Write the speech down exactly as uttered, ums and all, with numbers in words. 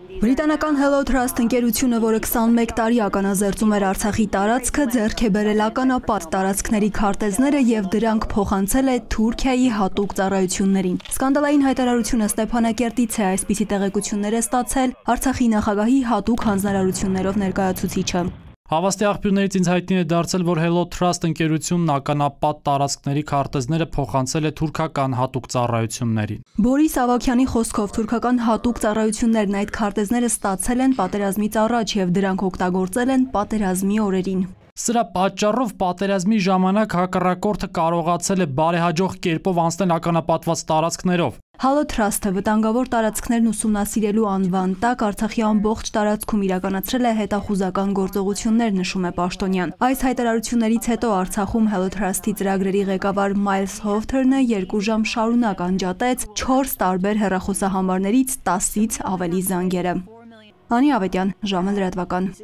Բրիտանական Hello Trust ընկերությունը, որը քսանմեկ տարի ականազերծում էր Արցախի տարածքը, ձեռք է բերել ականապատ տարածքների քարտեզները եւ դրանք փոխանցել է Թուրքիայի հատուկ ծառայություններին։ Սկանդալային հայտարարությունը Ստեփանակերտից է, այսպիսի տեղեկություններ է ստացել Արցախի նախագահի հատուկ հանձնարարություններով ներկայացուցիչը։ Հավաստի աղբյուրներից ինձ հայտնի է դարձել, որ Hello Trust ընկերությունն ականապատ տարածքների քարտեզները փոխանցել է թուրքական հատուկ ծառայություններին։ Բորիս Ավագյանի խոսքով թուրքական հատուկ ծառայություններն այդ քարտեզները ստացել են պատերազմից առաջ եւ դրանք օգտագործել են պատերազմի օրերին։ Սրա պատճառով պատերազմի ժամանակ հակառակորդը կարողացել է բարեհաջող կերպով անցնել ականապատված տարածքներով։ Hello Trust-ը վտանգավոր տարածքներն ուսումնասիրելու անվան տակ Արցախի ամբողջ տարածքում իրականացրել է հետախուզական գործողություններ, նշում է պաշտոնյան։ Այս հայտարարություններից հետո Արցախում Hello Trust-ի ծրագրերի ղեկավար Miles Houghton-ը երկու ժամ շարունակ անջատեց չորս տարբեր հեռախոսահամարներից տասից ավելի զանգերը։ Անի Ավետյան, ժամը լրատվական։